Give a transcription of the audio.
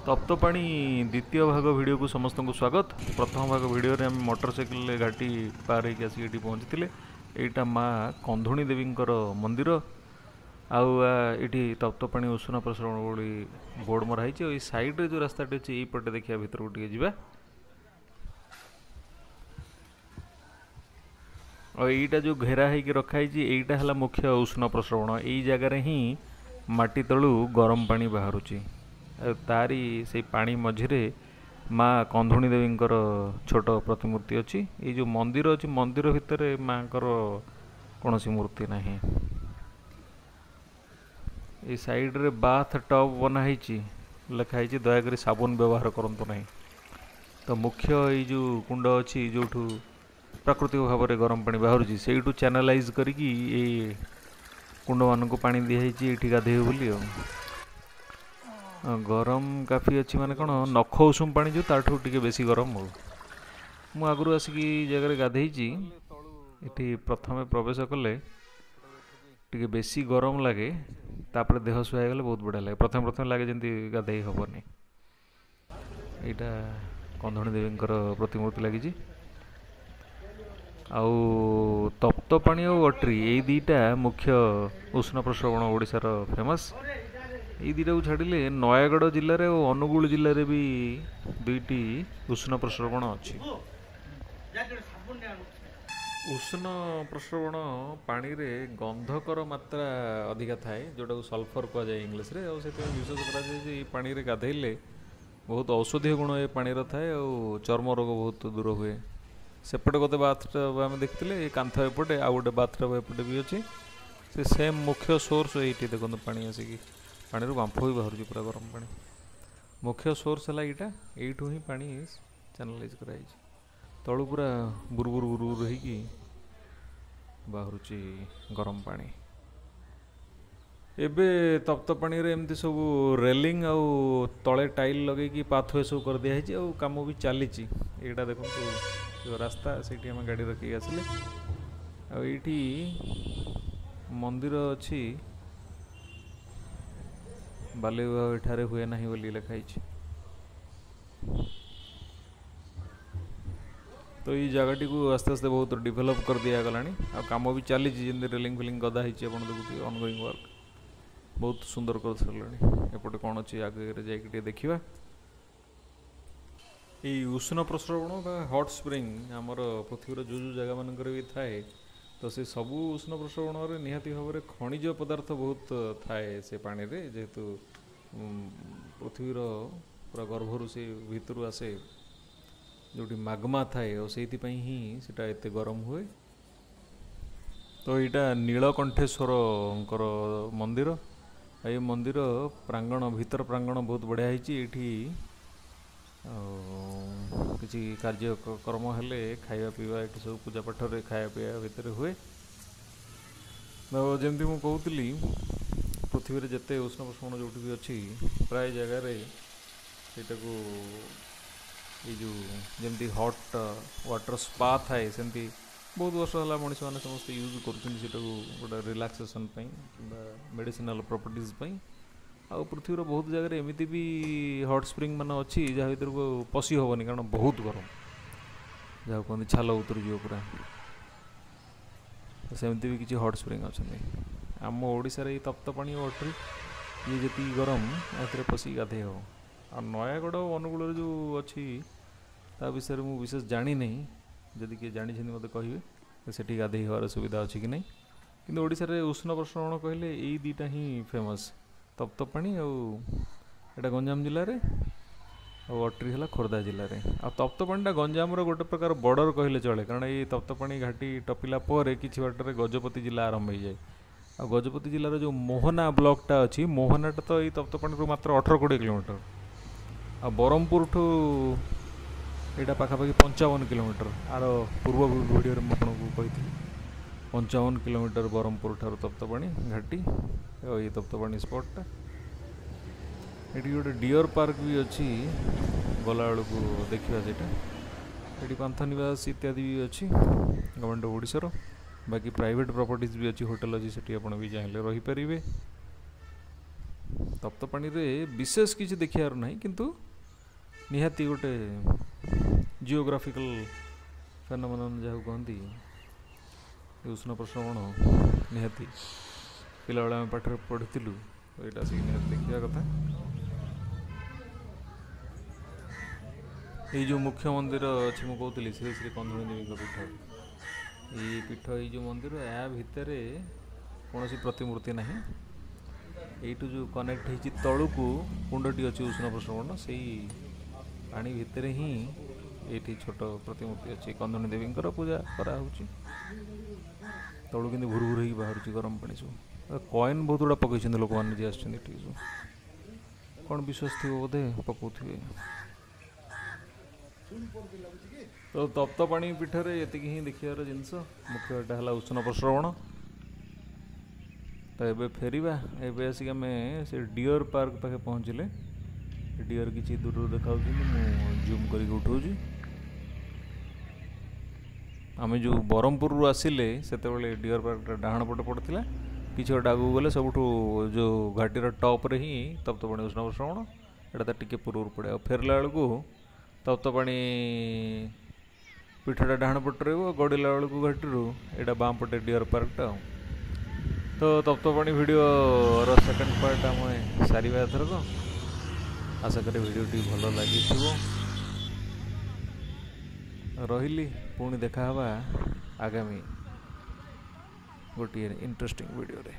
ତପ୍ତପାଣି ଦ୍ୱିତୀୟ ଭାଗ ଭିଡ଼ିଓକୁ ସମସ୍ତଙ୍କୁ ସ୍ୱାଗତ। ପ୍ରଥମ ଭାଗ ଭିଡ଼ିଓରେ ଆମେ ମୋଟର ସାଇକେଲରେ ଘାଟି ପାର ହେଇକି ଆସିକି ଏଠି ପହଞ୍ଚିଥିଲେ। ଏଇଟା ମା କନ୍ଧୁଣୀ ଦେବୀଙ୍କର ମନ୍ଦିର। ଆଉ ଏଇଠି ତପ୍ତପାଣି ଉଷୁଣ ପ୍ରସରଣ ଭଳି ବୋର୍ଡ଼ ମରା ହେଇଛି। ଆଉ ଏଇ ସାଇଡ଼ରେ ଯେଉଁ ରାସ୍ତାଟି ଅଛି ଏଇପଟେ ଦେଖିବା, ଭିତରକୁ ଟିକେ ଯିବା। ଆଉ ଏଇଟା ଯେଉଁ ଘେରା ହେଇକି ରଖା ହେଇଛି, ଏଇଟା ହେଲା ମୁଖ୍ୟ ଉଷ୍ଣ ପ୍ରସ୍ରବଣ। ଏଇ ଜାଗାରେ ହିଁ ମାଟି ତଳୁ ଗରମ ପାଣି ବାହାରୁଛି। ଆଉ ତାରି ସେଇ ପାଣି ମଝିରେ ମା କନ୍ଧୁଣୀ ଦେବୀଙ୍କର ଛୋଟ ପ୍ରତିମୂର୍ତ୍ତି ଅଛି। ଏଇ ଯେଉଁ ମନ୍ଦିର ଅଛି, ମନ୍ଦିର ଭିତରେ ମାଙ୍କର କୌଣସି ମୂର୍ତ୍ତି ନାହିଁ। ଏଇ ସାଇଡ଼ରେ ବାଥ୍ ଟବ୍ ବନା ହେଇଛି, ଲେଖା ହେଇଛି ଦୟାକରି ସାବୁନ ବ୍ୟବହାର କରନ୍ତୁ ନାହିଁ। ତ ମୁଖ୍ୟ ଏଇ ଯେଉଁ କୁଣ୍ଡ ଅଛି, ଯେଉଁଠୁ ପ୍ରାକୃତିକ ଭାବରେ ଗରମ ପାଣି ବାହାରୁଛି, ସେଇଠୁ ଚ୍ୟାନେଲାଇଜ୍ କରିକି ଏଇ କୁଣ୍ଡମାନଙ୍କୁ ପାଣି ଦିଆହେଇଛି ଏଇଠି ଗାଧେଇବେ ବୋଲି। ଆଉ ଗରମ କାଫି ଅଛି, ମାନେ କ'ଣ ନଖ ଉଷୁମ ପାଣି ଯେଉଁ, ତାଠୁ ଟିକେ ବେଶୀ ଗରମ। ଆଉ ମୁଁ ଆଗରୁ ଆସିକି ଏଇ ଜାଗାରେ ଗାଧେଇଛି। ଏଠି ପ୍ରଥମେ ପ୍ରବେଶ କଲେ ଟିକେ ବେଶୀ ଗରମ ଲାଗେ, ତାପରେ ଦେହ ସୁହା ହେଇଗଲେ ବହୁତ ବଢ଼ିଆ ଲାଗେ। ପ୍ରଥମେ ପ୍ରଥମେ ଲାଗେ ଯେମିତି ଗାଧେଇ ହେବନି। ଏଇଟା କନ୍ଧୁଣୀ ଦେବୀଙ୍କର ପ୍ରତିମୂର୍ତ୍ତି ଲାଗିଛି। ଆଉ ତପ୍ତପାଣି ଆଉ ଅଟ୍ରି, ଏଇ ଦୁଇଟା ମୁଖ୍ୟ ଉଷ୍ଣ ପ୍ରସ୍ରବଣ ଓଡ଼ିଶାର ଫେମସ୍। ଏଇ ଦୁଇଟାକୁ ଛାଡ଼ିଲେ ନୟାଗଡ଼ ଜିଲ୍ଲାରେ ଓ ଅନୁଗୁଳ ଜିଲ୍ଲାରେ ବି ଦୁଇଟି ଉଷ୍ଣ ପ୍ରସ୍ରବଣ ଅଛି। ଉଷ୍ଣ ପ୍ରସ୍ରବଣ ପାଣିରେ ଗନ୍ଧକର ମାତ୍ରା ଅଧିକା ଥାଏ, ଯେଉଁଟାକୁ ସଲଫର କୁହାଯାଏ ଇଂଲିଶରେ। ଆଉ ସେଥିପାଇଁ ବିଶ୍ୱାସ କରାଯାଏ ଯେ ଏଇ ପାଣିରେ ଗାଧେଇଲେ ବହୁତ ଔଷଧୀୟ ଗୁଣ ଏ ପାଣିର ଥାଏ ଆଉ ଚର୍ମ ରୋଗ ବହୁତ ଦୂର ହୁଏ। ସେପଟେ ଗୋଟେ ବାଥ୍ ଟବ୍ ଆମେ ଦେଖିଥିଲେ, ଏ କାନ୍ଥ ଏପଟେ ଆଉ ଗୋଟେ ବାଥ୍ ଟବ୍ ଏପଟେ ବି ଅଛି। ସେ ସେମ୍ ମୁଖ୍ୟ ସୋର୍ସ ଏଇଠି ଦେଖନ୍ତୁ, ପାଣି ଆସିକି ପାଣିରୁ ବାମ୍ଫ ବି ବାହାରୁଛି, ପୁରା ଗରମ ପାଣି। ମୁଖ୍ୟ ସୋର୍ସ ହେଲା ଏଇଟା, ଏଇଠୁ ହିଁ ପାଣି ଚ୍ୟାନେଲାଇଜ୍ କରାଯାଇଛି। ତଳୁ ପୁରା ବୁରୁ ବୁରୁ ବୁରୁ ବୁରୁ ହେଇକି ବାହାରୁଛି ଗରମ ପାଣି। ଏବେ ତପ୍ତ ପାଣିରେ ଏମିତି ସବୁ ରେଲିଂ ଆଉ ତଳେ ଟାଇଲ୍ ଲଗେଇକି ପାଥୱେ ସବୁ କରିଦିଆହେଇଛି, ଆଉ କାମ ବି ଚାଲିଛି। ଏଇଟା ଦେଖନ୍ତୁ ଯେଉଁ ରାସ୍ତା, ସେଇଠି ଆମେ ଗାଡ଼ି ରଖିକି ଆସିଲେ। ଆଉ ଏଇଠି ମନ୍ଦିର ଅଛି, ବାଲ୍ୟ ବିବାହ ଏଠାରେ ହୁଏ ନାହିଁ ବୋଲି ଲେଖା ହେଇଛି। ତ ଏଇ ଜାଗାଟିକୁ ଆସ୍ତେ ଆସ୍ତେ ବହୁତ ଡେଭଲପ୍ କରିଦିଆଗଲାଣି ଆଉ କାମ ବି ଚାଲିଛି। ଯେମିତି ରେଲିଂ ଫେଲିଂ ଗଦା ହେଇଛି ଆପଣ ଦେଖୁଥିବେ, ଅନଗୋଇଂ ୱାର୍କ, ବହୁତ ସୁନ୍ଦର କରିସାରିଲାଣି। ଏପଟେ କ'ଣ ଅଛି ଆଗରେ ଯାଇକି ଟିକେ ଦେଖିବା। ଏଇ ଉଷ୍ଣ ପ୍ରସ୍ରବଣ ବା ହଟ୍ ସ୍ପ୍ରିଙ୍ଗ ଆମର ପୃଥିବୀର ଯେଉଁ ଯେଉଁ ଜାଗାମାନଙ୍କରେ ବି ଥାଏ, ତ ସେ ସବୁ ଉଷ୍ଣ ପ୍ରସ୍ରବଣରେ ନିହାତି ଭାବରେ ଖଣିଜ ପଦାର୍ଥ ବହୁତ ଥାଏ ସେ ପାଣିରେ, ଯେହେତୁ ପୃଥିବୀର ପୁରା ଗର୍ଭରୁ ସେ ଭିତରୁ ଆସେ, ଯେଉଁଠି ମାଗମା ଥାଏ, ଆଉ ସେଇଥିପାଇଁ ହିଁ ସେଇଟା ଏତେ ଗରମ ହୁଏ। ତ ଏଇଟା ନୀଳକଣ୍ଠେଶ୍ୱରଙ୍କର ମନ୍ଦିର। ଏଇ ମନ୍ଦିର ପ୍ରାଙ୍ଗଣ, ଭିତର ପ୍ରାଙ୍ଗଣ ବହୁତ ବଢ଼ିଆ ହେଇଛି। ଏଇଠି ଆଉ କିଛି କାର୍ଯ୍ୟକ୍ରମ ହେଲେ ଖାଇବା ପିଇବା ଏଠି ସବୁ ପୂଜା ପାଠରେ ଖାଇବା ପିଇବା ଭିତରେ ହୁଏ। ତ ଯେମିତି ମୁଁ କହୁଥିଲି, ପୃଥିବୀରେ ଯେତେ ଉଷ୍ଣ ପ୍ରସ୍ରବଣ ଯେଉଁଠି ବି ଅଛି, ପ୍ରାୟ ଜାଗାରେ ସେଇଟାକୁ ଏଇ ଯେଉଁ ଯେମିତି ହଟ୍ ୱାଟର୍ ସ୍ପା ଥାଏ, ସେମିତି ବହୁତ ବର୍ଷ ହେଲା ମଣିଷମାନେ ସମସ୍ତେ ୟୁଜ୍ କରୁଛନ୍ତି ସେଇଟାକୁ ଗୋଟେ ରିଲାକ୍ସେସନ୍ ପାଇଁ କିମ୍ବା ମେଡ଼ିସିନାଲ୍ ପ୍ରପର୍ଟିଜ୍ ପାଇଁ। ଆଉ ପୃଥିବୀର ବହୁତ ଜାଗାରେ ଏମିତି ବି ହଟ୍ ସ୍ପ୍ରିଙ୍ଗ ମାନ ଅଛି ଯାହା ଭିତରକୁ ପଶି ହେବନି, କାରଣ ବହୁତ ଗରମ, ଯାହାକୁ କୁହନ୍ତି ଛାଲ ଉତୁରିଯିବ ପୁରା। ସେମିତି ବି କିଛି ହଟ୍ ସ୍ପ୍ରିଙ୍ଗ ଅଛନ୍ତି। ଆମ ଓଡ଼ିଶାରେ ଏଇ ତପ୍ତପାଣି ଓ ଅଟ୍ରି, ଇଏ ଯେତିକି ଗରମ ଏଥିରେ ପଶିକି ଗାଧେଇ ହେବ। ଆଉ ନୟାଗଡ଼ ଅନୁଗୁଳରେ ଯେଉଁ ଅଛି ତା ବିଷୟରେ ମୁଁ ବିଶେଷ ଜାଣିନାହିଁ। ଯଦି କିଏ ଜାଣିଛନ୍ତି ମୋତେ କହିବେ ସେଠି ଗାଧେଇ ହେବାର ସୁବିଧା ଅଛି କି ନାହିଁ। କିନ୍ତୁ ଓଡ଼ିଶାରେ ଉଷ୍ଣ ପ୍ରସ୍ରବଣ କହିଲେ ଏଇ ଦୁଇଟା ହିଁ ଫେମସ୍, ତପ୍ତପାଣି ଆଉ ଏଇଟା ଗଞ୍ଜାମ ଜିଲ୍ଲାରେ, ଆଉ ଅଟ୍ରି ହେଲା ଖୋର୍ଦ୍ଧା ଜିଲ୍ଲାରେ। ଆଉ ତପ୍ତପାଣିଟା ଗଞ୍ଜାମର ଗୋଟେ ପ୍ରକାର ବର୍ଡ଼ର କହିଲେ ଚଳେ, କାରଣ ଏଇ ତପ୍ତପାଣି ଘାଟି ଟପିଲା ପରେ କିଛି ବାଟରେ ଗଜପତି ଜିଲ୍ଲା ଆରମ୍ଭ ହେଇଯାଏ। ଆଉ ଗଜପତି ଜିଲ୍ଲାର ଯେଉଁ ମୋହନା ବ୍ଲକଟା ଅଛି, ମୋହନାଟା ତ ଏଇ ତପ୍ତପାଣିରୁ ମାତ୍ର 18-20 କିଲୋମିଟର, ଆଉ ବ୍ରହ୍ମପୁରଠୁ ଏଇଟା ପାଖାପାଖି 55 କିଲୋମିଟର। ଆର ପୂର୍ବ ଭିଡ଼ିଓରେ ମୁଁ ଆପଣଙ୍କୁ କହିଥିଲି, 55 କିଲୋମିଟର ବ୍ରହ୍ମପୁର ଠାରୁ ତପ୍ତପାଣି ଘାଟି ଆଉ ଏଇ ତପ୍ତପାଣି ସ୍ପଟ୍ଟା। ଏଠି ଗୋଟେ ଡିଅର୍ ପାର୍କ ବି ଅଛି, ଗଲାବେଳକୁ ଦେଖିବା ସେଇଟା। ଏଠି ପାନ୍ଥନିବାସ ଇତ୍ୟାଦି ବି ଅଛି ଗଭର୍ଣ୍ଣମେଣ୍ଟ ଅଫ୍ ଓଡ଼ିଶାର। ବାକି ପ୍ରାଇଭେଟ୍ ପ୍ରପର୍ଟିଜ୍ ବି ଅଛି, ହୋଟେଲ୍ ଅଛି, ସେଠି ଆପଣ ବି ଚାହିଁଲେ ରହିପାରିବେ। ତପ୍ତପାଣିରେ ବିଶେଷ କିଛି ଦେଖିବାର ନାହିଁ, କିନ୍ତୁ ନିହାତି ଗୋଟେ ଜିଓଗ୍ରାଫିକାଲ ଫେନୋମେନନ୍ ଯାହାକୁ କହନ୍ତି, ଉଷ୍ଣ ପ୍ରସ୍ରବଣ ନିହାତି ପିଲାବେଳେ ଆମେ ପାଠରେ ପଢ଼ିଥିଲୁ, ଏଇଟା ଆସିକି ନିହାତି ଦେଖିବା କଥା। ଏଇ ଯେଉଁ ମୁଖ୍ୟ ମନ୍ଦିର ଅଛି, ମୁଁ କହୁଥିଲି ଶ୍ରୀ ଶ୍ରୀ କନ୍ଧୁଣୀ ଦେବୀଙ୍କ ପୀଠ, ଏଇ ପୀଠ, ଏଇ ଯେଉଁ ମନ୍ଦିର, ଏହା ଭିତରେ କୌଣସି ପ୍ରତିମୂର୍ତ୍ତି ନାହିଁ। ଏଇଠୁ ଯେଉଁ କନେକ୍ଟ ହେଇଛି ତଳକୁ କୁଣ୍ଡଟି ଅଛି ଉଷ୍ଣ ପ୍ରସ୍ରବଣ, ସେଇ ପାଣି ଭିତରେ ହିଁ ଏଇଠି ଛୋଟ ପ୍ରତିମୂର୍ତ୍ତି ଅଛି କନ୍ଧୁଣୀ ଦେବୀଙ୍କର, ପୂଜା କରାହେଉଛି। ତଳୁ କିନ୍ତୁ ଭୁରୁ ଭୁରୁ ହେଇକି ବାହାରୁଛି ଗରମ ପାଣି ସବୁ। କଏନ୍ ବହୁତ ଗୁଡ଼ା ପକେଇଛନ୍ତି ଲୋକମାନେ ଯିଏ ଆସିଛନ୍ତି ଏଠିକି ସବୁ, କ'ଣ ବିଶ୍ୱାସ ଥିବ ବୋଧେ ପକାଉଥିବେ। ତ ତପ୍ତପାଣି ପୀଠରେ ଏତିକି ହିଁ ଦେଖିବାର ଜିନିଷ ମୁଖ୍ୟ, ଏଇଟା ହେଲା ଉଷ୍ଣ ପ୍ରସ୍ରବଣ। ତ ଏବେ ଫେରିବା। ଏବେ ଆସିକି ଆମେ ସେ ଡିଅର୍ ପାର୍କ ପାଖେ ପହଞ୍ଚିଲେ। ଡିଅର୍ କିଛି ଦୂରରୁ ଦେଖାଯାଉଛନ୍ତି, ମୁଁ ଜୁମ୍ କରିକି ଉଠାଉଛି। ଆମେ ଯେଉଁ ବ୍ରହ୍ମପୁରରୁ ଆସିଲେ ସେତେବେଳେ ଡିଅର୍ ପାର୍କଟା ଡାହାଣ ପଟେ ପଡ଼ିଥିଲା। କିଛି ଗୋଟେ ଆଗକୁ ଗଲେ ସବୁଠୁ ଯେଉଁ ଘାଟିର ଟପ୍ରେ ହିଁ ତପ୍ତପାଣି ଉଷ୍ଣ ପ୍ରସ୍ରବଣ, ଏଇଟା ତ ଟିକେ ପୂର୍ବରୁ ପଡ଼େ। ଆଉ ଫେରିଲା ବେଳକୁ ତପ୍ତପାଣି ପୀଠଟା ଡାହାଣ ପଟେ ରହିବ, ଗଡ଼ିଲା ବେଳକୁ ଘାଟିରୁ ଏଇଟା ବାଁ ପଟେ ଡିଅର୍ ପାର୍କଟା। ଆଉ ତ ତପ୍ତପାଣି ଭିଡ଼ିଓର ସେକେଣ୍ଡ ପାର୍ଟ ଆମେ ସାରିବା ଏଥରକ। ଆଶା କରେ ଭିଡ଼ିଓଟି ଭଲ ଲାଗିଥିବ। ରହିଲି, ପୁଣି ଦେଖା ହେବା ଆଗାମୀ ଗୋଟିଏ ଇଣ୍ଟରେଷ୍ଟିଂ ଭିଡ଼ିଓରେ।